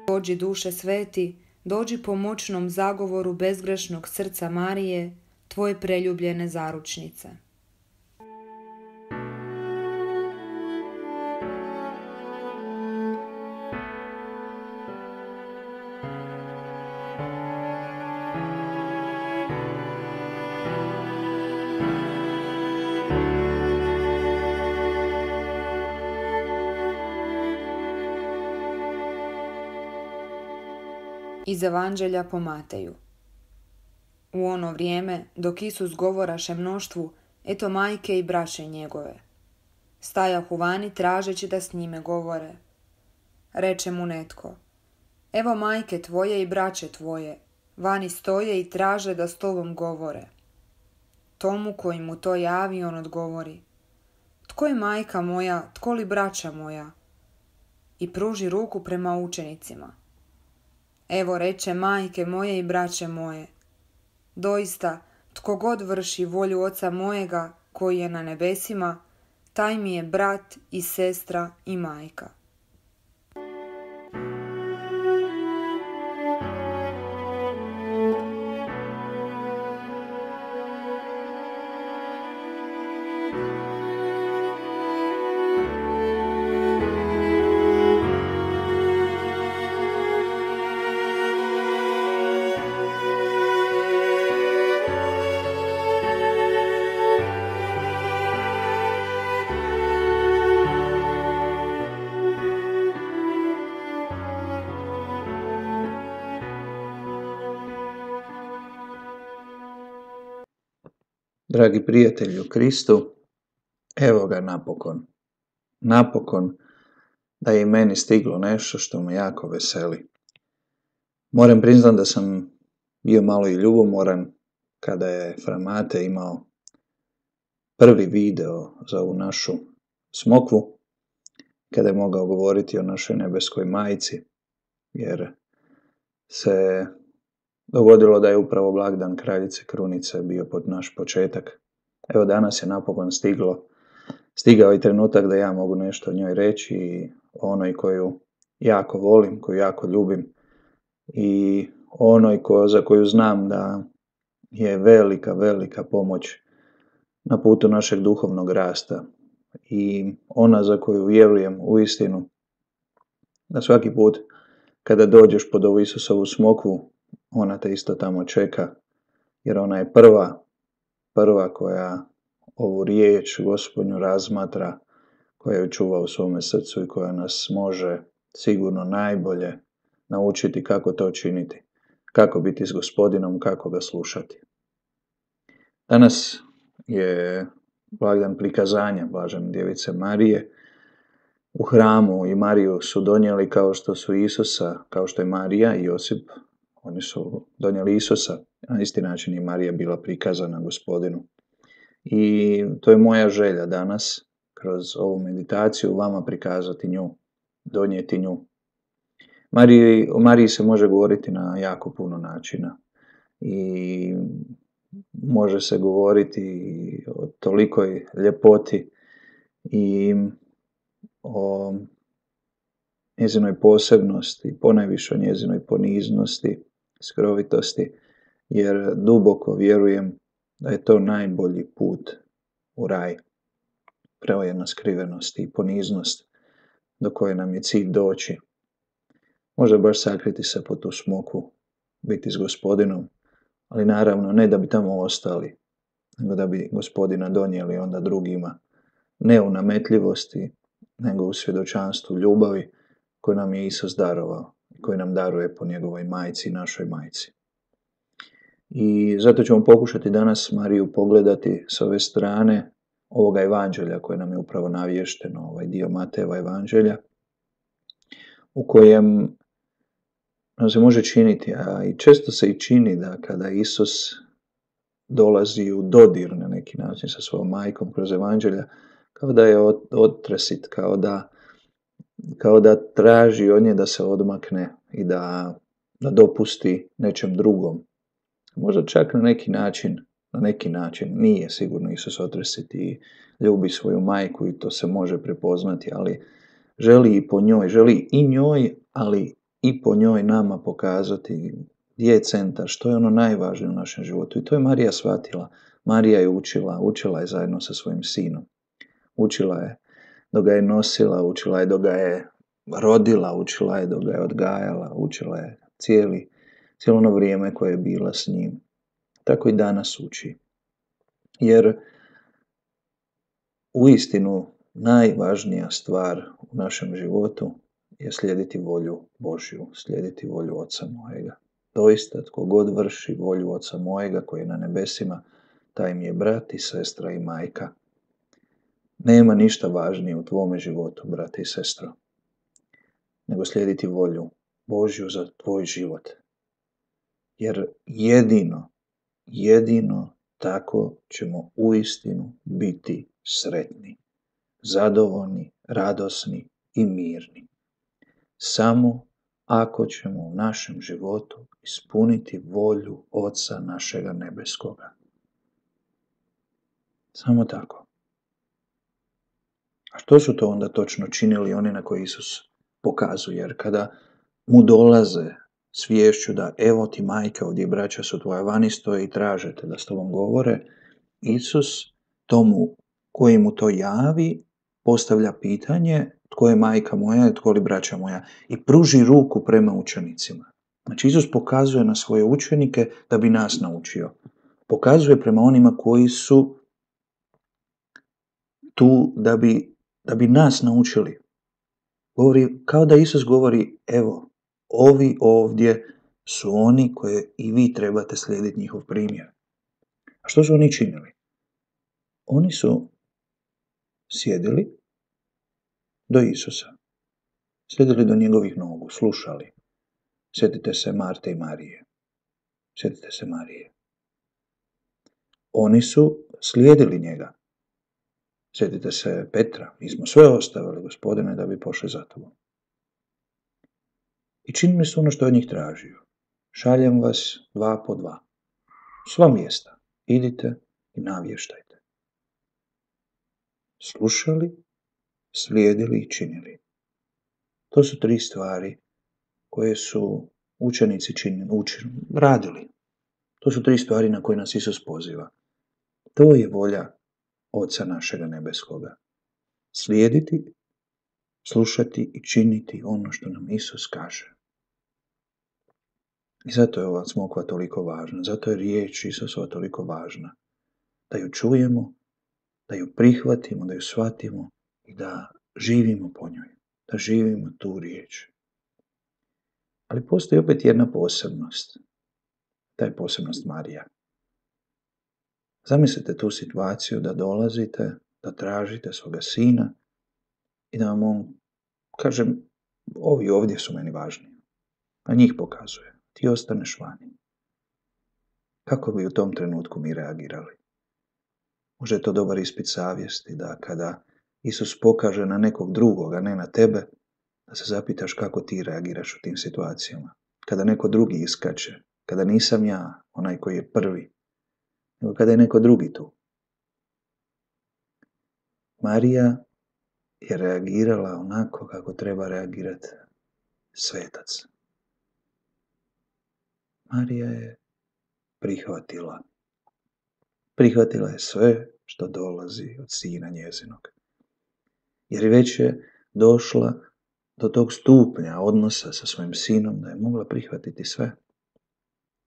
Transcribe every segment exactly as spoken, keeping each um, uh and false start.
Dođi duše sveti, dođi po moćnom zagovoru bezgrešnog srca Marije, tvoje preljubljene zaručnice. Iz Evanđelja po Mateju. U ono vrijeme, dok Isus govoraše mnoštvu, eto majke i braće njegove. Stajahu vani tražeći da s njime govore. Reče mu netko, evo majke tvoje i braće tvoje, vani stoje i traže da s tobom govore. Tomu koji mu to javi, on odgovori, tko je majka moja, tko li braća moja? I pruži ruku prema učenicima. Evo reče majke moje i braće moje. Doista, tko god vrši volju Oca mojega koji je na nebesima, taj mi je brat i sestra i majka. Dragi prijatelji u Kristu, evo ga napokon. Napokon da je i meni stiglo nešto što me jako veseli. Moram priznati da sam bio malo i ljubomoran kada je Fra Mate imao prvi video za ovu našu smokvu, kada je mogao govoriti o našoj nebeskoj majci, jer se dogodilo da je upravo blagdan Kraljice Krunice bio pod naš početak. Evo danas je napokon stiglo, stigao i trenutak da ja mogu nešto o njoj reći i o onoj koju jako volim, koju jako ljubim i onoj ko, za koju znam da je velika, velika pomoć na putu našeg duhovnog rasta i ona za koju vjerujem uistinu da svaki put kada dođeš pod ovu Isusovu smokvu, ona te isto tamo čeka, jer ona je prva, prva koja ovu riječ Gospodnju razmatra, koja ju čuva u svome srcu i koja nas može sigurno najbolje naučiti kako to činiti, kako biti s Gospodinom, kako ga slušati. Danas je blagdan prikazanja Blažene Djevice Marije. U hramu i Mariju su donijeli kao što su Isusa, kao što je Marija i Josip, oni su donijeli Isusa, na isti način i Marija bila prikazana Gospodinu. I to je moja želja danas, kroz ovu meditaciju, vama prikazati nju, donijeti nju. Mariji, o Mariji se može govoriti na jako puno načina i može se govoriti o tolikoj ljepoti i o njezinoj posebnosti, ponajviše o njezinoj poniznosti, skrovitosti, jer duboko vjerujem da je to najbolji put u raj. Preojena skrivenost i poniznost do koje nam je cilj doći. Možda baš sakriti se pod tu smokvu, biti s Gospodinom, ali naravno ne da bi tamo ostali, nego da bi Gospodina donijeli onda drugima, ne u nametljivosti, nego u svjedočanstvu ljubavi koju nam je Isus darovao, koju nam daruje po njegovoj majci, našoj majci. I zato ćemo pokušati danas Mariju pogledati s ove strane ovoga evanđelja koje nam je upravo navješteno, ovaj dio Matejeva evanđelja, u kojem nam se može činiti, a i često se i čini da kada Isus dolazi u dodir na neki način sa svojom majkom kroz evanđelja, kao da je otresit, kao da, kao da traži od nje da se odmakne i da, da dopusti nečem drugom. Možda čak na neki način, na neki način nije sigurno Isus otresit i ljubi svoju majku i to se može prepoznati, ali želi i po njoj, želi i njoj, ali i po njoj nama pokazati gdje je centar, što je ono najvažnije u našem životu. I to je Marija shvatila. Marija je učila, učila je zajedno sa svojim sinom. Učila je dok ga je nosila, učila je dok ga je rodila, učila je dok ga je odgajala, učila je cijeli, cijelo ono vrijeme koje je bila s njim. Tako i danas uči. Jer uistinu najvažnija stvar u našem životu je slijediti volju Božju, slijediti volju Oca mojega. Doista, tko god vrši volju Oca mojega koji je na nebesima, taj mi je brat i sestra i majka. Nema ništa važnije u tvome životu, brate i sestro, nego slijediti volju Božju za tvoj život. Jer jedino, jedino tako ćemo uistinu biti sretni, zadovoljni, radosni i mirni. Samo ako ćemo u našem životu ispuniti volju Oca našega nebeskoga. Samo tako. A što su to onda točno činili oni na koje Isus pokazuje? Jer kada mu dolaze s viješću da evo ti majka, ovdje braća su tvoja, vani stoje i tražete da s tobom govore, Isus tomu koji mu to javi postavlja pitanje tko je majka moja, tko li braća moja, i pruži ruku prema učenicima. Znači Isus pokazuje na svoje učenike da bi nas naučio. Pokazuje prema onima koji su tu da bi, da bi nas naučili. Govori, kao da Isus govori, evo, ovi ovdje su oni koje i vi trebate slijediti njihov primjer. A što su oni činili? Oni su sjedili do Isusa. Sjedili do njegovih nogu, slušali. Sjetite se Marte i Marije. Sjetite se Marije. Oni su slijedili njega. Sjetite se Petra. Mi smo sve ostavili, Gospodine, da bi pošli za tobom. I činili su ono što je od njih tražio. Šaljem vas dva po dva. Sva mjesta. Idite i navještajte. Slušali, slijedili i činili. To su tri stvari koje su učenici činili, učili, radili. To su tri stvari na koje nas Isus poziva. To je volja Oca našega nebeskoga. Slijediti, slušati i činiti ono što nam Isus kaže. I zato je ova smokva toliko važna, zato je riječ Isusova toliko važna. Da ju čujemo, da ju prihvatimo, da ju shvatimo i da živimo po njoj, da živimo tu riječ. Ali postoji opet jedna posebnost. Ta je posebnost Marija. Zamislite tu situaciju da dolazite, da tražite svoga sina i da vam on kaže, ovi ovdje su meni važni, a njih pokazuje. Ti ostaneš vani. Kako bi u tom trenutku mi reagirali? Možda je to dobar ispit savjesti da kada Isus pokaže na nekog drugog, a ne na tebe, da se zapitaš kako ti reagiraš u tim situacijama. Kada neko drugi iskače, kada nisam ja onaj koji je prvi, nego kada je neko drugi tu. Marija je reagirala onako kako treba reagirati svetac. Marija je prihvatila. Prihvatila je sve što dolazi od sina njezinog. Jer već je došla do tog stupnja odnosa sa svojim sinom da je mogla prihvatiti sve.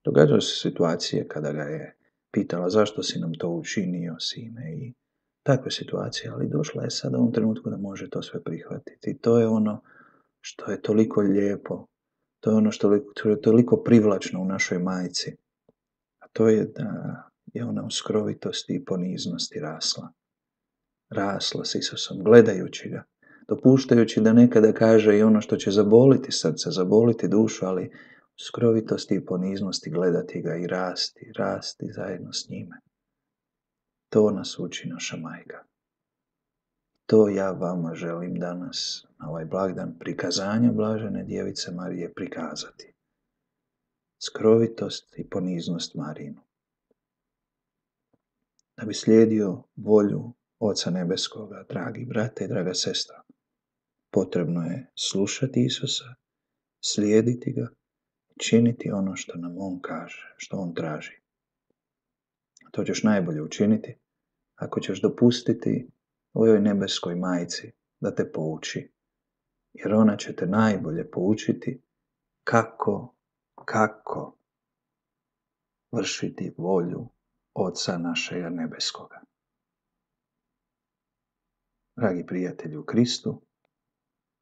Događaju se situacije kada ga je pitala zašto si nam to učinio, sine, i takve situacije, ali došla je sada u ovom trenutku da može to sve prihvatiti. I to je ono što je toliko lijepo, to je ono što je toliko privlačno u našoj majci. A to je da je ona u skrovitosti i poniznosti rasla. Rasla s Isusom, gledajući ga, dopuštajući da nekada kaže i ono što će zaboliti srce, zaboliti dušu, ali u skrovitosti i poniznosti gledati ga i rasti, rasti zajedno s njime. To nas uči naša majka. To ja vama želim danas, na ovaj blagdan prikazanja blažene djevice Marije, prikazati. Skrovitost i poniznost Marinu. Da bi slijedio volju Oca nebeskoga, dragi brate i draga sestra, potrebno je slušati Isusa, slijediti ga, činiti ono što nam on kaže, što on traži. To ćeš najbolje učiniti ako ćeš dopustiti ovoj nebeskoj majci da te pouči, jer ona će te najbolje poučiti kako, kako vršiti volju Oca našega nebeskoga. Dragi prijatelji u Kristu,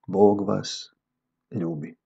Bog vas ljubi.